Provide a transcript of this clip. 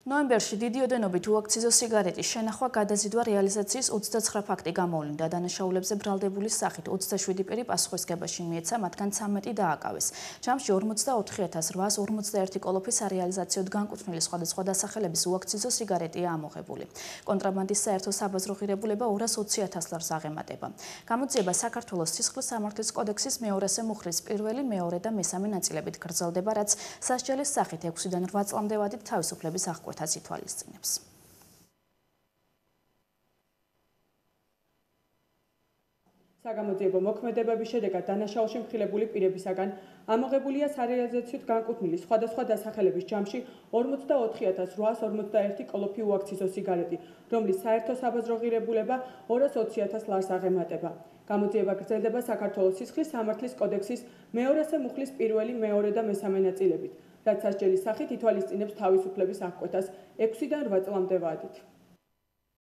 ნოემბერში დიდი ოდენობით უაქციზო სიგარეტის შენახვა, გადაზიდვა, რეალიზაციის 29 ფაქტი გამოვლინდა. დანაშაულებზე ბრალდებული სახით 27 პირი პასუხისგებაში მიეცა, მათგან 13 დააკავეს. ჯამში 44,841 კოლოფი სარეალიზაციოდ განკუთვნილი სხვადასხვა დასახელების უაქციზო სიგარეტია ამოღებული. კონტრაბანდის საერთო საბაზრო ღირებულება 220,000 ლარს აღემატება. გამოძიება საქართველოს სისხლის სამართლის კოდექსის მეორესე მუხლის პირველი, მეორე და მესამე ნაწილებით გრძელდება, რაც სასჯელის სახით 6-დან 8 წლამდე ვადით თავისუფლების აღკვეთას ითვალისწინებს. საგამოძიებო მოქმედებების შედეგად დანაშაულში მხილებული პირებისაგან ამოღებულია სარეალიზაციოდ განკუთვნილი სხვადასხვა დასახელების ჯამში 44,841 კოლოფი უაქციზო სიგარეტი, რომლის საერთო საბაზრო ღირებულება 220,000 ლარს აღემატება. გამოძიება გრძელდება საქართველოს სისხლის სამართლის კოდექსის მეორესე მუხლის პირველი, მეორე და მესამე ნაწილებით, რაც სასჯელის სახით ითვალისწინებს თავისუფლების აღკვეთას 6-დან 8 წლამდე ვადით.